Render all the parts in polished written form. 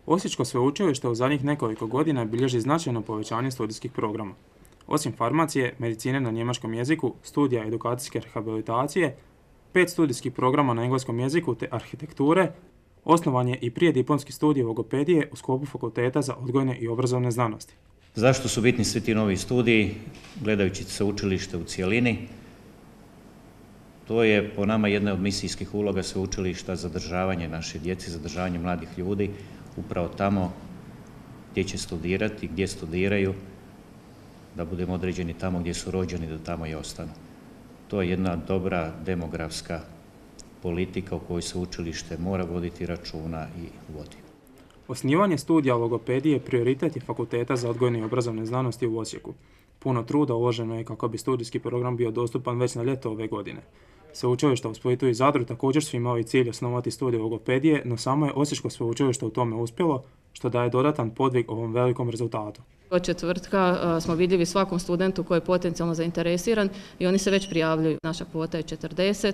Osječko sveučilište u zadnjih nekoliko godina bilježi značajno povećanje studijskih programa. Osim farmacije, medicine na njemačkom jeziku, studija edukacijske rehabilitacije, 5 studijskih programa na engleskom jeziku te arhitekture, osnovan je i prijediplomski studij logopedije u sklopu Fakulteta za odgojne i obrazovne znanosti. Zašto su bitni svi ti novi studiji, gledajući sveučilište u cjelini? To je po nama jedna od misijskih uloga sveučilišta zadržavanje naše djece, zadržavanje mladih ljudi, upravo tamo gdje će studirati, gdje studiraju, da budemo određeni tamo gdje su rođeni, da tamo i ostanu. To je jedna dobra demografska politika u kojoj sveučilište mora voditi računa i vodi. Osnivanje studija logopedije prioritet je Fakulteta za odgojne i obrazovne znanosti u Osijeku. Puno truda uloženo je kako bi studijski program bio dostupan već na ljeto ove godine. Sveučilišta u Splitu i Zadru također su imali cilj osnovati studij logopedije, no samo je Osječko sveučilište u tome uspjelo, što daje dodatan podvig ovom velikom rezultatu. Od četvrtka smo vidljivi svakom studentu koji je potencijalno zainteresiran i oni se već prijavljuju. Naša kvota je 40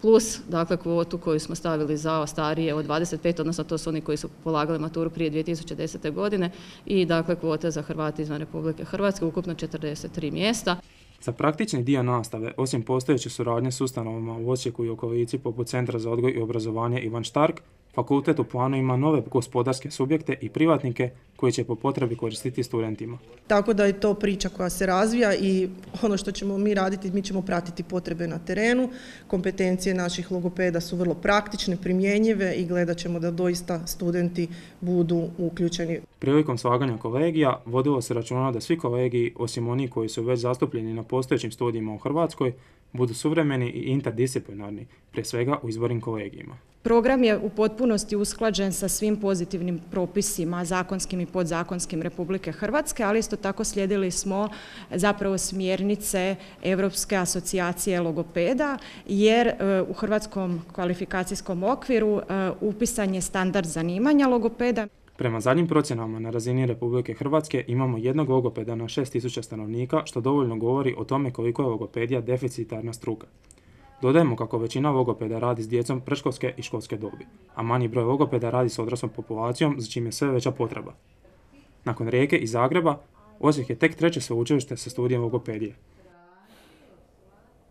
plus kvotu koju smo stavili za starije od 25, odnosno to su oni koji su polagali maturu prije 2010. godine i kvota za Hrvate izvan Republike Hrvatske, ukupno 43 mjesta. Za praktični dio nastave, osim postojeće suradnje s ustanovama u Osijeku i okolici poput Centra za odgoj i obrazovanje Ivan Štark, fakultet u planu ima nove gospodarske subjekte i privatnike koji će po potrebi koristiti studentima. Tako da je to priča koja se razvija i ono što ćemo mi raditi, mi ćemo pratiti potrebe na terenu. Kompetencije naših logopeda su vrlo praktične, primjenjive i gledat ćemo da doista studenti budu uključeni. Prilikom slaganja kolegija vodilo se računa da svi kolegiji, osim onih koji su već zastupljeni na postojećim studijima u Hrvatskoj, budu suvremeni i interdisciplinarni, prije svega u izbornim kolegijima. Program je u potpunosti usklađen sa svim pozitivnim propisima, zakonskim i podzakonskim Republike Hrvatske, ali isto tako slijedili smo zapravo smjernice Europske asocijacije logopeda, jer u Hrvatskom kvalifikacijskom okviru upisan je standard zanimanja logopeda. Prema zadnjim procjenama na razini Republike Hrvatske imamo jednog logopeda na 6000 stanovnika, što dovoljno govori o tome koliko je logopedija deficitarna struka. Dodajemo kako većina logopeda radi s djecom predškolske i školske dobi, a manji broj logopeda radi s odraslom populacijom, za čim je sve veća potreba. Nakon Rijeke i Zagreba, Osijek je tek treće sveučilište sa studijem logopedije.